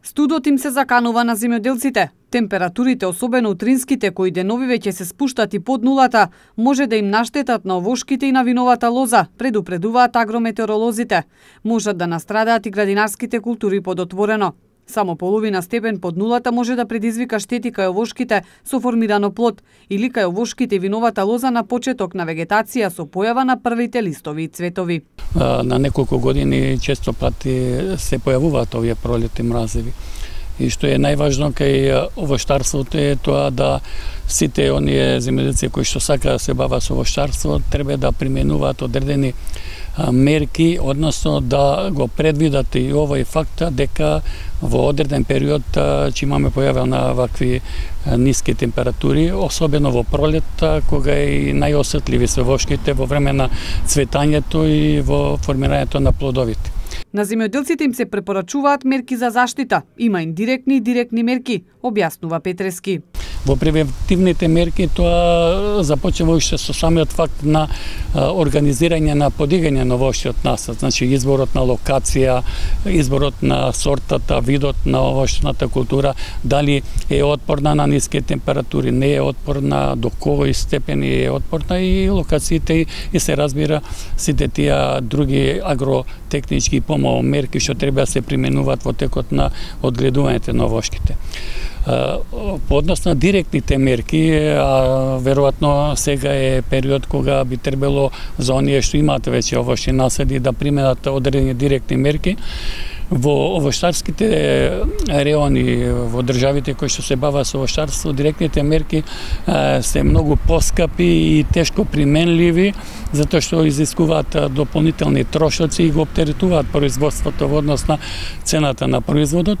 Студот им се заканува на земјоделците. Температурите, особено утринските, кои деновиве ќе се спуштат и под нулата, може да им наштетат на овошките и на виновата лоза, предупредуваат агрометеоролозите. Можат да настрадаат и градинарските култури под отворено. Само половина степен под нулата може да предизвика штети кај овошките со формирано плод или кај овошките и виновата лоза на почеток на вегетација со појава на првите листови и цветови. На неколку години често пати се појавуваат овие пролетни мразеви. И што е најважно кај овоштарството е тоа да сите оние земјоделци кои што сакаат да се бават со овоштарство треба да применуваат одредени мерки, односно да го предвидат и овој факт дека во одреден период ќе имаме појава на вакви ниски температури, особено во пролет, кога е најосетливи се овошките во време на цветањето и во формирањето на плодовите. На земјоделците им се препорачуваат мерки за заштита. Има индиректни и директни мерки, објаснува Петрески. Во превентивните мерки тоа започнува уште со самиот факт на организирање на подигање на овошјот насад, значи изборот на локација, изборот на сортата, видот на овошната култура, дали е отпорна на ниски температури, не е отпорна, до кој степени е отпорна и локациите и се разбира сите тие други агротехнички мерки што треба да се применуваат во текот на одгледувањето на овошките. По однос на директните мерки, веројатно сега е период кога би требало за оние што имаат веќе овошни насади да применат одредени директни мерки. Во овоштарските реони, во државите кои што се бават со овоштарство, директните мерки се многу поскапи и тешко применливи, затоа што изискуваат дополнителни трошоци и го оптеретуваат производството во однос на цената на производот.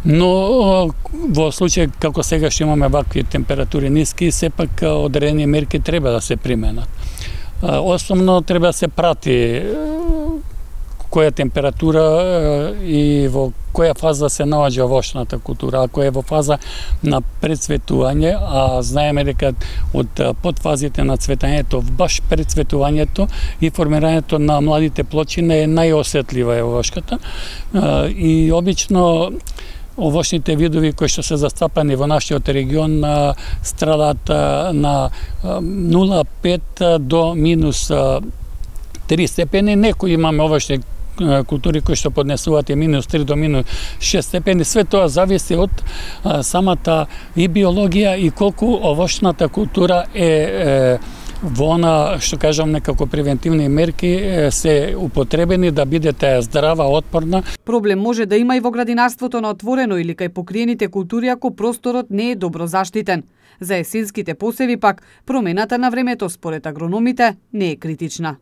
Но во случај како сега што имаме вакви температури ниски, сепак одредени мерки треба да се применат. Основно треба да се прати која температура и во која фаза се наоѓа овошната култура. Ако е во фаза на прецветување, а знаеме дека од подфазите на цветањето, баш прецветувањето и формирањето на младите плочина е најосетлива овошката. И обично овошните видови кои што се застапани во нашиот регион страдаат на 0,5 до минус 3 степени. Некои имаме овошни култури кои што поднесуваат и минус 3 до минус 6 степени. Све тоа зависи од самата и биологија и колку овошната култура е во она, што кажам, некако превентивни мерки се употребени да бидете здрава, отпорна. Проблем може да има и во градинарството на отворено или кај покриените култури ако просторот не е добро заштитен. За есенските посеви пак, промената на времето според агрономите не е критична.